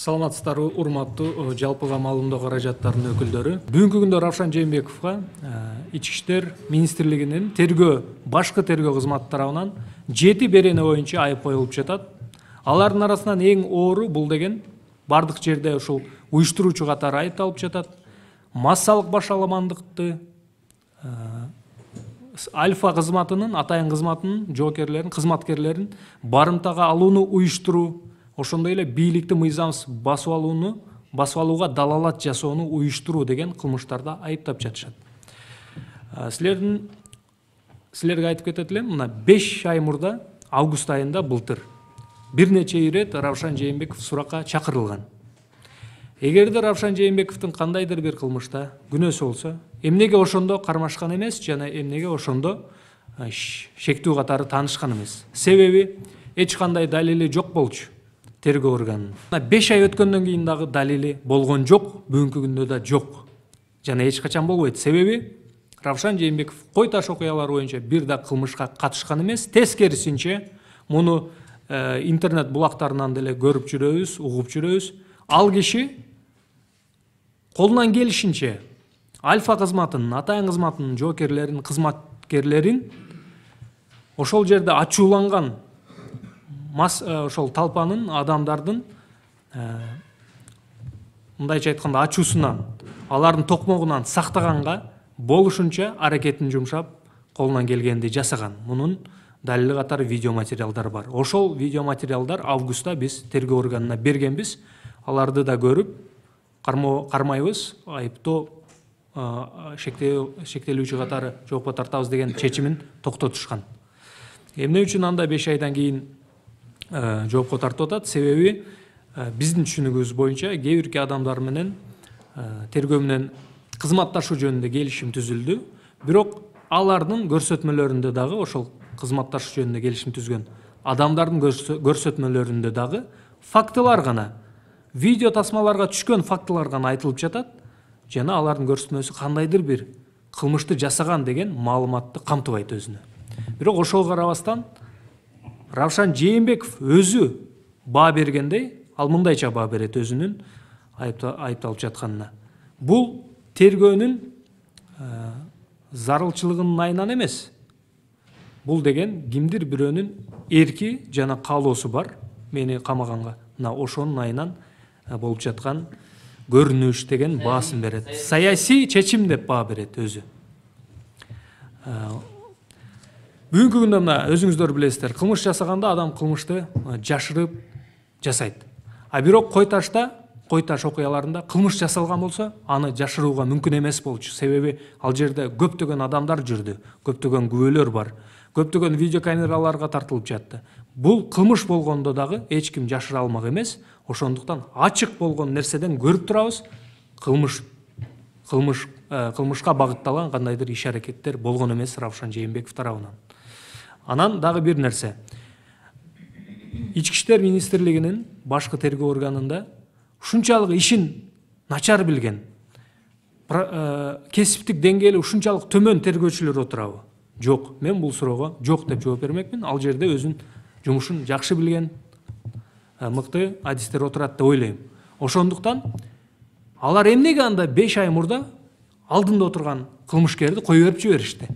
Саламатсыздарбы, урматтуу жалпыга маалымдоо каражаттарынын өкүлдөрү. Бүгүнкү күндө Равшан Жээнбековго Ички иштер министрлигинин башкы тергөө кызматы тарабынан 7 берене боюнча айып коюлуп жатат. Алардын арасынан эң оору бул деген бардык жерде ушул уюштуруучу катары айыпталып жатат. Массалык башаламандыкты, Альфа кызматынын, Атайын кызматынын жоокерлерин, кызматкерлерин барымтага алууну уюштуруу, ошондой эле бийликти мыйзамсыз басып алууга далалат жасоону уюштуруу деген кылмыштарда айыптап жатышат. Силерге айтып кетет элем, мына 5 ай мурда, август айында былтыр бир нече ирет Равшан Жээнбеков суракка чакырылган. Эгерде Равшан Жээнбековдун кандайдыр бир кылмышта күнөөсү болсо, эмнеге ошондо кармашкан эмес жана эмнеге ошондо шектүү катары таанышкан эмес? Себеби эч кандай далили жок болчу тергөө органынын. 5 ай өткөндөн кийин дагы далили болгон жок, бүгүнкү күндө да жок. Жана эч качан болбойт. Себеби Равшан Жээнбеков Кой Таш окуялары боюнча бир да кылмышка катышкан эмес. Тескерисинче, муну интернет булактарынан деле көрүп жүрөбүз, угуп жүрөбүз. Ал киши колунан келишинче Альфа кызматынын, Атайын кызматынын жоокерлерин, кызматкерлерин ошол жерде ачууланган ошол талпанын, адамдардын мындайча айтканда ачуусунан, алардын токмогунан сактаганга болушунча аракетин жумшап, колунан келгенди жасаган. Мунун далили катары видео материалдар бар. Ошол видео материалдар августта биз тергөө органына бергенбиз. Аларды да көрүп, кармайбыз, айыптоо шектелүүчү катары жоопко тартабыз деген чечимин токтотушкан. Эмне үчүн анда 5 айдан кийин жоопко тартып атат? Себеби биздин түшүнүгүбүз боюнча кээ бирки адамдар менен тергөө менен кызматташуу жөнүндө келишим түзүлдү. Бирок алардын көрсөтмөлөрүндө дагы, ошол кызматташуу жөнүндө келишим түзгөн адамдардын көрсөтмөлөрүндө дагы фактылар гана, видео тасмаларга түшкөн фактылар гана айтылып жатат. Жана алардын көрсөтмөсү кандайдыр бир кылмышты жасаган деген маалыматты камтыбайт өзүнө. Бирок ошого карабастан Равшан Жээнбеков өзү баа бергендей, ал мындайча баа берет өзүнүн айыпталып жатканына. Бул тергөөнүн зарылчылыгынын айынан эмес. Бул деген кимдир бирөөнүн эрки жана каалоосу бар, мени камаганга. Мына ошонун айынан болуп жаткан көрүнүш деген баасын берет. Саясий чечим деп баа берет өзү. Бүгүнкү күндө мына өзүңүздөр билесиздер, кылмыш жасаганда адам кылмышты жашырып жасайт. Бирок Кой Таш окуяларында кылмыш жасалган болсо, аны жашырууга мүмкүн эмес болчу. Себеби ал жерде көптөгөн адамдар жүрдү, көптөгөн күбөлөр бар, көптөгөн видеокамераларга тартылып жатты. Бул кылмыш болгондо дагы эч ким жашыра алмак эмес. Ошондуктан ачык болгон нерседен көрүп турабыз, кылмышка багытталган кандайдыр иш-аракеттер болгон эмес Равшан Жээнбеков тарабынан. Анан дагы бир нерсе. Ички иштер министрлигинин башкы тергөө органында ушунчалык ишин начар билген, кесиптик деңгээли ушунчалык төмөн тергөөчүлөр отурабы? Жок. Мен бул суроого жок деп жооп бермекмин. Ал жерде өзүнүн жумушун жакшы билген мыкты адистер отурат деп ойлойм. Ошондуктан алар эмнеге анда 5 ай мурда алдында отурган кылмышкерди кое берип жиберишти?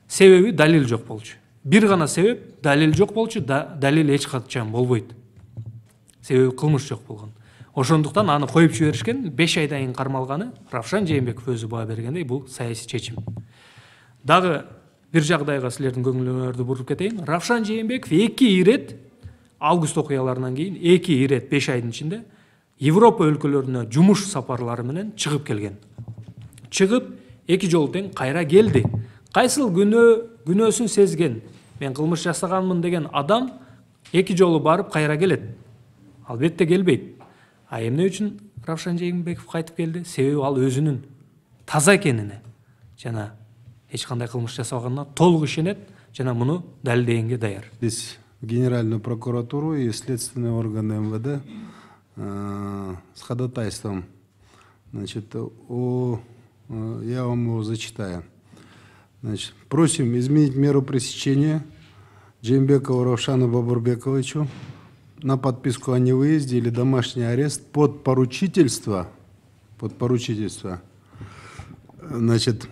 Себеби далил жок болчу. Бир гана себеп, далил жок болчу, далил эч качан болбойт. Себеби кылмыш жок болгон. Ошондуктан аны коюп жиберишкен. 5 айдан кийин кармалганы Равшан Жээнбеков өзү баа бергендей, бул саясий чечим. Дагы бир жагдайга силердин көңүлүңөрдү буруп кетейин. Равшан Жээнбеков 2 ирет август окуяларынан кийин 2 ирет 5 айдын ичинде Европа өлкөлөрүнө жумуш сапарлары менен чыгып келген. Чыгып 2 жолу тең кайра келди. Кайсыл күнөөсүн сезген, мен кылмыш жасаганмын деген адам 2 жолу барып кайра келет? Албетте келбейт. Эмне үчүн Равшан Жээнбеков кайтып келди? Себеби ал өзүнүн таза экенине жана эч кандай кылмыш жасабаганына толук ишенет жана муну далилдегенге даяр. Здесь Генеральную прокуратуру и следственные органы МВД с ходатайством, значит, я вам его зачитаю. Значит, просим изменить меру пресечения Жээнбекову Равшану Бабурбековичу на подписку о невыезде или домашний арест под поручительство, значит,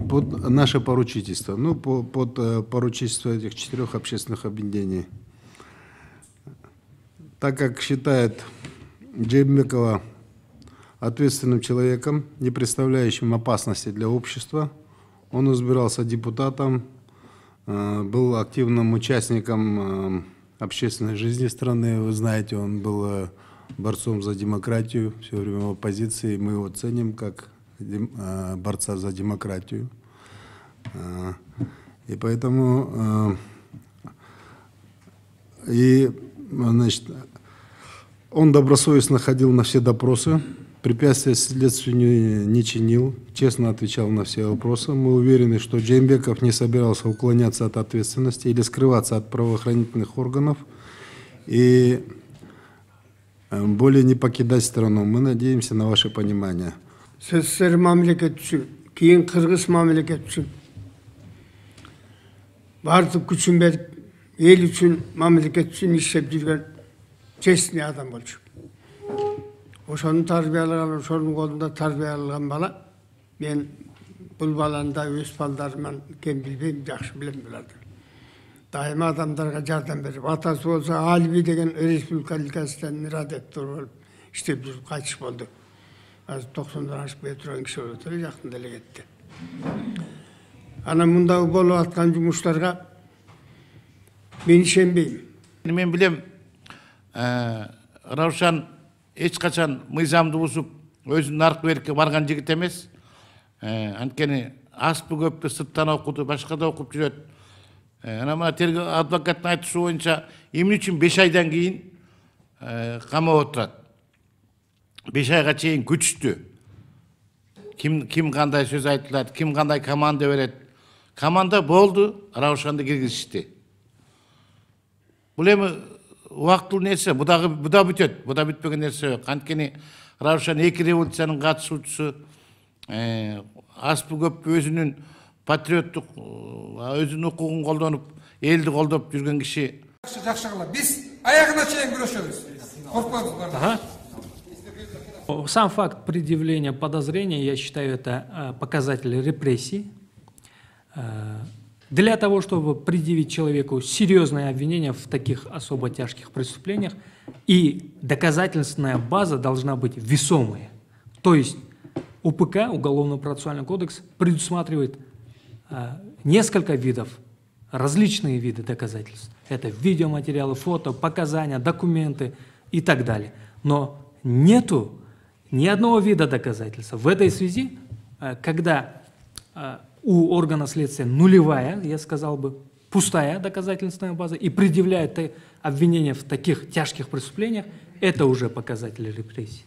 под наше поручительство, ну, под поручительство этих 4 общественных объединений. Так как считает Джеймбекова ответственным человеком, не представляющим опасности для общества, он избирался депутатом, был активным участником общественной жизни страны. Вы знаете, он был борцом за демократию, все время в оппозиции. Мы его ценим как борца за демократию. И поэтому значит, он добросовестно ходил на все допросы, препятствия следствию не чинил, честно отвечал на все вопросы. Мы уверены, что Джеймбеков не собирался уклоняться от ответственности или скрываться от правоохранительных органов и более не покидать страну. Мы надеемся на ваше понимание. СССР мамлекет үчүн, кийин Кыргыз мамлекет үчүн бардык күчүн берип, эл үчүн, мамлекет үчүн иштеп жүргөн честный адам болчу. Ошону тарбиялаган, ошонун колунда тарбияланган бала. Мен бул баланы да өз балдарыман кем билбейм, жакшы билем буларды. Дайыма адамдарга жардам берип, атасы болсо Алиби деген республикалык газеттен радиоктор болуп иштеп жүрүп кайтыш болду. Азыр 90-дан ашып кете турган киши болуп эле жакында эле кетти. Анан мында болуп аткан жумуштарга мен ишенбейм. Мен билем, Раушан эч качан мыйзамды бузуп, өзүнүн наркы берикке барган жигит эмес. Анткени аспы көптү сырттан окуду, башка да окуп жүрөт. Анан мына тергөө адвокаттын айтышы боюнча, эмне үчүн 5 айдан кийин камап отурат? 5 айга чейин күчтү. Ким кандай сөз айтылат, ким кандай команда берет. Команда болду, Раушанды киргизишти. Бул эми убактылуу нерсе, бу да бүтөт, бу да бүтпөгөн нерсе жок. Анткени Раушан 2 революциянын катышуучусу, аспы көп өзүнүн патриоттук, өзүнүн укугун колдонуп, элди колдоп жүргөн киши. Жакшы кылат. Биз аягына чейин күрөшөбүз. Коркпойбуз. Сам факт предъявления подозрения, я считаю, это показатель репрессий. Для того, чтобы предъявить человеку серьезное обвинение в таких особо тяжких преступлениях, и доказательственная база должна быть весомая. То есть УПК, Уголовно-процессуальный кодекс, предусматривает несколько видов, различные виды доказательств. Это видеоматериалы, фото, показания, документы и так далее. Но нету ни одного вида доказательства. В этой связи, когда у органа следствия нулевая, я сказал бы, пустая доказательственная база и предъявляют обвинения в таких тяжких преступлениях, это уже показатели репрессий.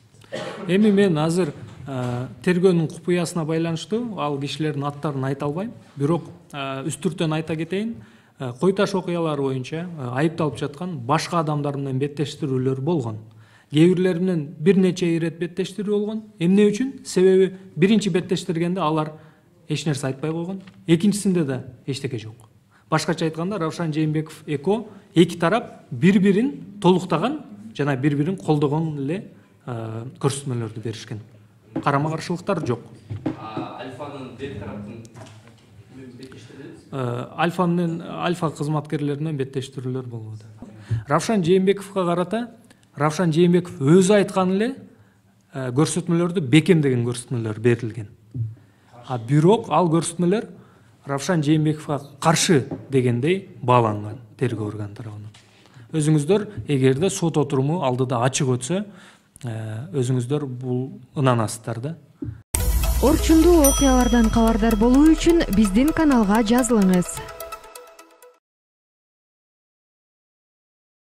Эми мен азыр тергөөнүн купуясына байланыштуу ал кишилердин аттарын айта албайм, бирок үстүртөн айта кетейин. Кой Таш окуялары боюнча айыпталып жаткан башка адамдар менен беттештирүүлөр болгон. Кээ бирлери менен бир нече ирет беттештирүү болгон. Эмне үчүн? Себеби биринчи беттештиргенде алар эч нерсе айтпай койгон. Экинчисинде да эчтеке жок. Башкача айтканда, Раушан Жээнбеков эко эки тарап бири-бирин толуктаган жана бири-бирин колдогон эле көрсөтмөлөрдү беришкен. Карама каршылыктар жок. Альфанын бет тараптын Альфа кызматкерлери менен беттештирүүлөр болбоду. Раушан Жээнбековго карата Раушан Жээнбеков өзү айткан эле көрсөтмөлөрдү бекемдеген көрсөтмөлөр берилген. Бирок ал көрсөтмөлөр Раушан Жээнбековго каршы дегендей бааланган тергөө орган тарабынан. Өзүңүздөр эгерде сот отуруму алдыда ачык өтсө, өзүңүздөр бул ынанасыздар да. Орчундуу окуялардан кабардар болуу үчүн биздин каналга жазылыңыз.